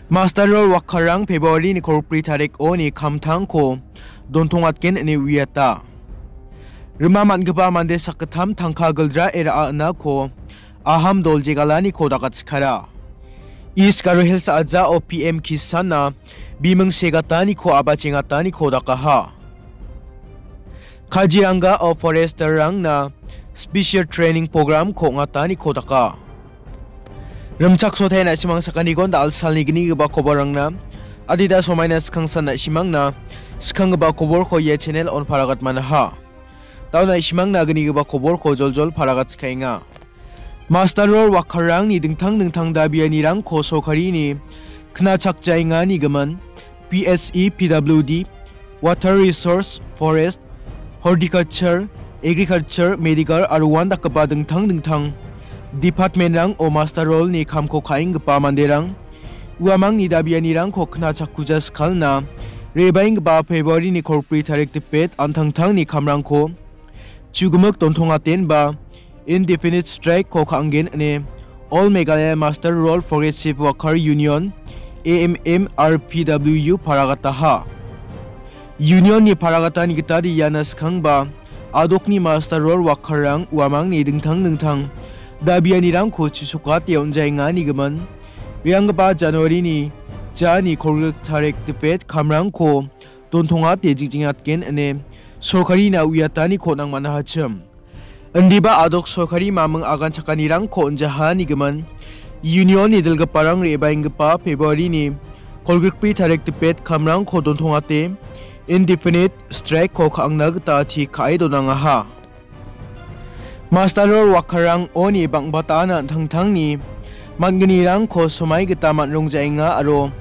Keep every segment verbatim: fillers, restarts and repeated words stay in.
Master Roll Wakharrang February-ni kolgri tarikoni kamtangko dontongatgen ine uiata. Rima man·gipa mande sakgittam tangka gilja era·anako Aham dol jegalaniko dakatskara. East Garo Hills a·jao P M Kisan-na biming segataniko abachengataniko dakaha. Kaziranga-o forester-rangna special training program-ko ong·ataniko daka. Rimchaksotaina na·simang sakantikon da·al salni gnigipa koborrangna adita somaina skangsan na·simangna skanggipa koborko ia channel on paragatmanaha. Da·o na·simangna gnigipa koborko joljol paragatskaenga. Master Roll Wakharrangni dingtang dingtang dabianirangko sorkarini knachakjaengani gimin, P S E, P W D, Water Resource, Forest, Horticulture, Agriculture, Medical aro uandakgipa dingtang dingtang department-rango Master Roll-ni kamko ka·enggipa manderang uamangni dabianirangko knachakkuja skalna, re·baenggipa February-ni kolgri tarik dipet an·tangtangni kamrangko chugimik dontongatenba indefinite strike-ko ka·angen ine All Meghalaya Master Roll Progressive Worker Union, A M M R P W U, paragataha. Union-ni paragatani gitade iana skangba adokni Master Roll Wakharrang uamangni dingtang dingtang dabianirangko chisokate on·jaengani gimin, re·anggipa January-ni jani kolgrik tarik dipet kamrangko dontongate jingjiatgen ine sorkarina uiataniko nangmanahachim. Indiba adok sorkari maming aganchakanirangko on·jahani gimin, Union-ni dilgiparang re·baenggipa February-ni kolgrikbri tarik dipet kamrangko dontongate indefinite strike-ko ka·angna gita ti ka·e donangaha. Master Roll Wakharrang oni bang·bataan an·tangtangni man·gnirangko somai gita man·rongjaenga aro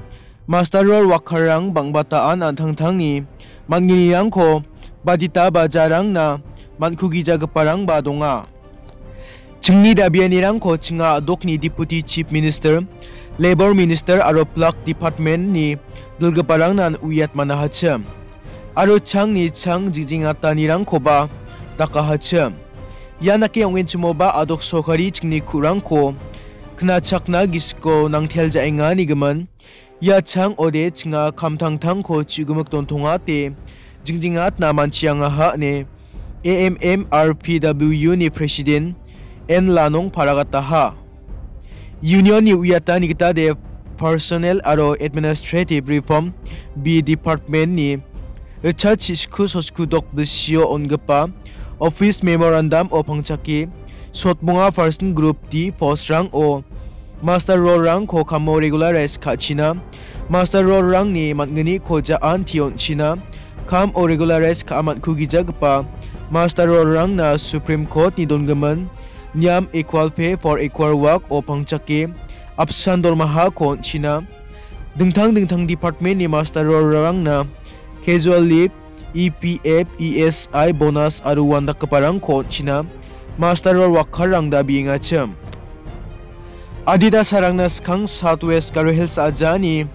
Master Roll Wakharrang bang·bataan an·tangtangni man·gnirangko badita bajarangna man·kugijagiparangba donga. Chingni dabianirangko chinga adokni Deputy Chief Minister, Labour Minister aro Plak Department-ni dilgiparangnan uiatmanahachim. Aro changni chang jingjiatanirangkoba dakahachim. Ian dake ong·enchimoba adok sorkari chingni ku·rangko knachakna gisiko nangteljaengani gimin, ia chang ode chinga kamtangtangko chugimik dontongate jingjiatna manchiangaha ine A M M R P W U-ni President N Lanong paragataha. Union-ni uiatani gitade Personnel aro Administrative Reform B Department-ni ritchart chisku soskudok bisio on·gipa Office Memorandum-o pangchake sotmonga Person Group D post-rango Master Roll-rangko kamo regularize ka·china, Master Roll-rangni man·gniko ja·an tion·china, kamo regularize ka·a man·kugijagipa Master Roll-rangna Supreme Court-ni dongimin niam equal pay for equal work-o pangchake apsan dormahako on·china, dingtang dingtang department-ni Master Roll-rangna casual leave, E P F, E S I bonus aro uandakgiparangko on·china Master Roll Wakharrang dabiengachim. Adita sarangna skang South West Garo Hills a·jani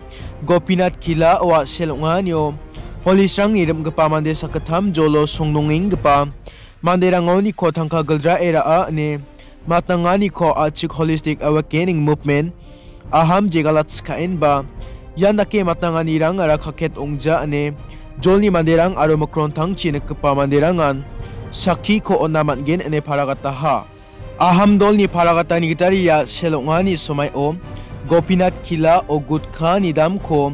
Gopinath Kila-o a·sel ong·anio police-rangni rim·gipa mande sakgittam jolo songnongenggipa manderangoniko tangka gilja era·a ine matnanganiko A H I K Holistic Awakening Movement, Aham jegalatskaenba ian dake matnanganirangara kaket ong·ja ine jolni manderang aro mikrontangchi nikgipa manderangan sakkiko on·na man·gen ine paragataha. Aham dolni paragatani gitade ia a·sel ong·ani somaio Gopinath Kila-o gutkani damko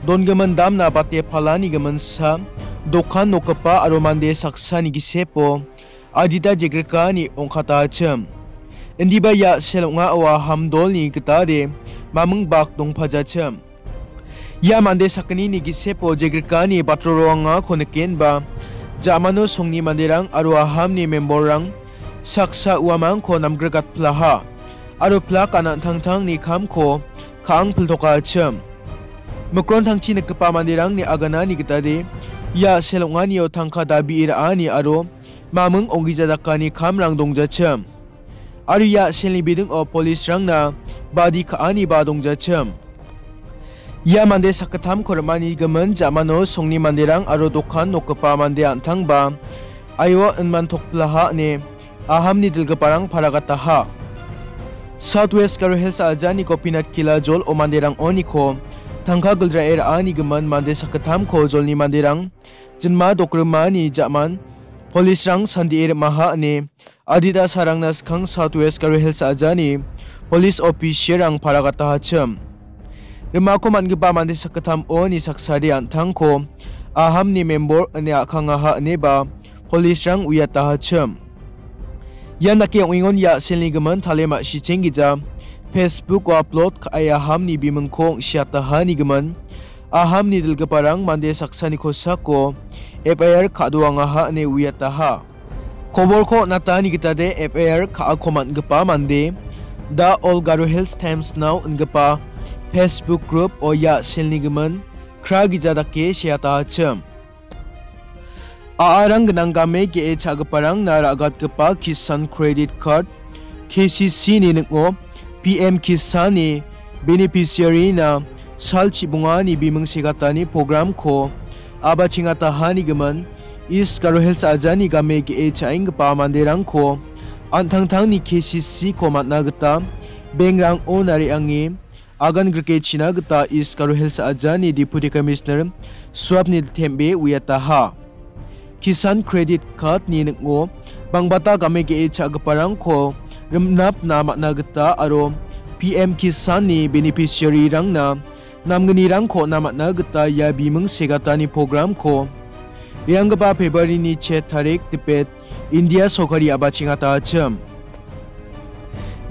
dongimin damna bate palani giminsa dokan nokgipa aro mande saksani gisepo adita jegrikani ong·katachim. Indiba ia a·sel ong·ao Aham dolni gitade maming bak dongpajachim. Ia mande sakgnini gisepo jegrikani batrorangako nikenba, ja·mano songni manderang aro Ahamni memborrang saksa uamangko namgrigatplaha aro plak an·tangtangni kamko ka·ang piltokachim. Mikrontangchi nikgipa manderangni aganani gitade ia a·sel ong·anio tangka dabi ra·ani aro maming ong·gija dakani kamrang dongjachim. Aro ia a·selni bidingo police-rangna badi ka·aniba dongjachim. Ia mande sakgittamko rim·ani gimin ja·mano songni manderang aro dokan nokgipa mande an·tangba aio inmantokplaha ine Ahamni dilgiparang paragataha. South West Garo Hills a·jani Gopinath Kila jol o manderang oniko tangka giljae ra·anigimin mande sakgittamko jolni manderang jinma dokrimani ja·man polisrang sandie rim·aha ine adita sarangna skang South West Garo Hills ajani polis officialrang paragatahachim. Rimako man·gipa mande sakgittamoni saksade an·tangko Ahamni member ine a·kangaha ineba polisrang uiatahachim. Ian dake ong·engon ia a·selni gimin tale ma·sicheng gija Facebooko upload ka·e Ahamni bimingko ong·siatahani gimin Ahamni dilgiparang mande saksani kosako F I R ka·doangaha ine uiataha. Koborko on·atani gitade F I R ka·ako man·gipa mande The All Garo Hills Times Now ingipa Facebook group-o ia a·selni gimin kra gija dake seatahachim. A·arang gnang game ge·e cha·giparangna ra·gatgipa Kisan Credit Card, K C C-ni ning·o P M Kisan-ni beneficiary-na sal chibongani biming segatani program-ko a·bachengatahani gimin East Garo Hills ajani game ge·e cha·enggipa manderangko an·tangtangni K C C-ko man·na gita bank-rango nariange agan grikechina gita East Garo Hills ajani Deputy Commissioner Swapnil Thembe uiataha. Kisan Credit Card-ni ning·o bangbata game ge·e cha·giparangko rimnapna man·a gita aro P M Kisan-ni beneficiary-rangna namgnirangko on·na man·a gita ia biming segatani program-ko re·anggipa February-ni chet tarik dipet India sorkari a·bachengatachim.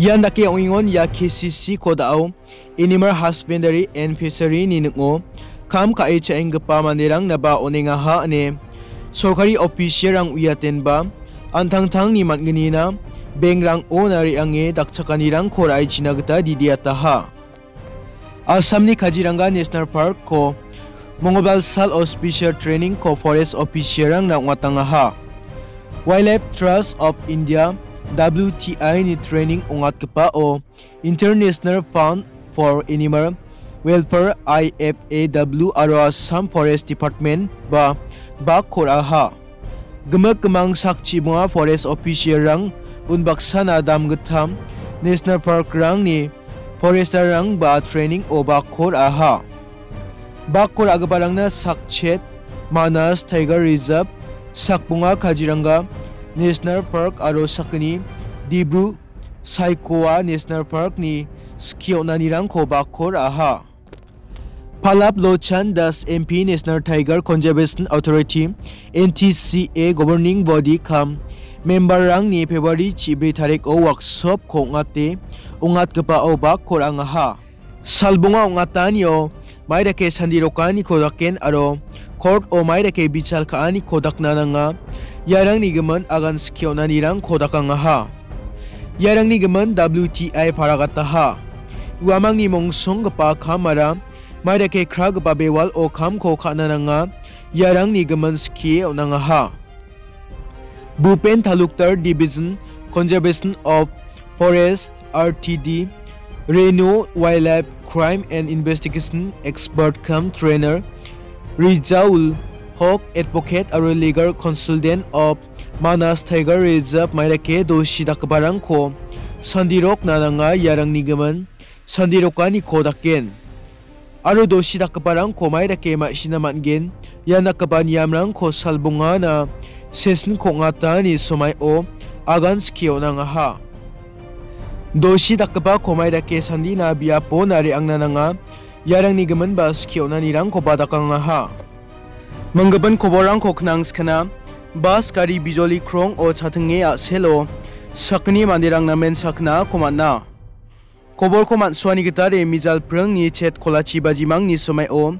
Ian dake ong·engon ia K C C kodao Animal Husbandry and Fishery-ni ning·o kam ka·e cha·enggipa manderangnaba on·engaha ine sorkari official-rang uiatenba an·tangtangni man·gnina bank-rango nariange dakchakanirangko ra·ichina gita didiataha. Assamni Kaziranga National Park-ko Mongolbar salo special training-ko forest official-rangna ong·atangaha. Wildlife Trust of India, W T I-ni training ong·atgipao International Fund for Animal Welfare, I F A W, aro Assam Forest Department-ba bak kor·aha. Gimik gimang sak chibonga forest official-rang unbaksana damgittam national park-rangni forester-rangba training-o bak kor·aha. Bak kor·agiparangna sakchet Manas Tiger Reserve, sakbonga Kaziranga National Park aro sakgni Dibru Saikhowa National Park-ni skie on·anirangko bak kor·aha. Pallab Lochan Das M P National Tiger Conservation Authority, N T C A, governing body kam member-rangni February chibri tariko workshop-ko ong·ate ong·atgipao bak kor·angaha. Salbonga ong·atanio maidake sandirokaniko daken aro court-o maidake bichal ka·aniko dakna nanga, iarangni gimin agan skie on·anirangko dakangaha. Iarangni gimin W T I paragataha. Uamangni mongsonggipa kamara maidake kragipa bewalo kamko ka·na nanga, iarangni gimin skie on·angaha. Bhupen Talukdar Division Conservation of Forest, R T D, Reno Wildlife Crime and Investigation Expert cum Trainer, Rijaul Hok Advocate aro Legal Consultant of Manas Tiger Reserve maidake dosi dakgiparangko sandirokna nanga, iarangni gimin sandirokaniko daken. Aro dosi dakgiparangko maidake ma·sina man·gen, ia dakgipa niamrangko salbongana session-ko ong·atani somaio agan skie on·angaha. Dosi dakgipako maidake sandina biapona re·angna nanga, iarangni giminba skie on·anirangkoba dakangaha. Minggipa koborrangko knang skana, bas gari bijoli krong-o chatinge a·selo sakgni manderang namen sakna ako man·a. Koborko man·suani gitade mijal pringni chet kolachi bajimangni somaio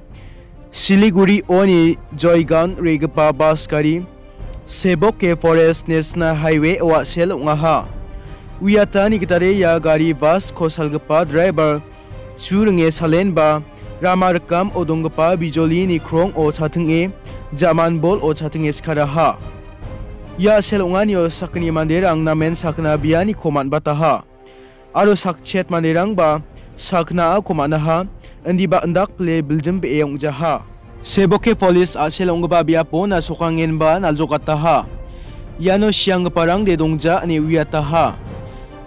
Siliguri-oni Joygaon re·gipa bas gari Seboke Forest National Highway-o a·sel ong·aha. Uiatani gitade ia gari basko salgipa driver chu ringe salenba rama rikamo donggipa bijolini krong-o chatinge, ja·man bol-o chatinge skaraha. Ia a·sel ong·anio sakgni manderang namen sakgna bianiko man·bataha. Aro sakchet manderangba sakgnaako man·aha, indiba indakpile biljim be·e ong·jaha. Seboke Police a·sel ong·gipa biapona sokangenba naljokataha. Iano sianggiparangde dongja ine uiataha.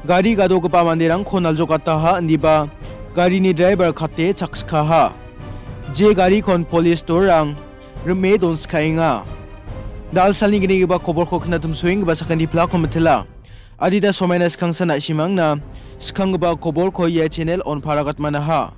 Gari gadogipa manderangko naljokataha, indiba garini driver kate chakskaha. Je garikon polis dorang rime donskaenga. Dalsalni gnigipa koborko knatimsoenggipa sakantipilako mitila. Adita somaina skangsa na·simangna skanggipa koborko ia channel-on paragatmanaha.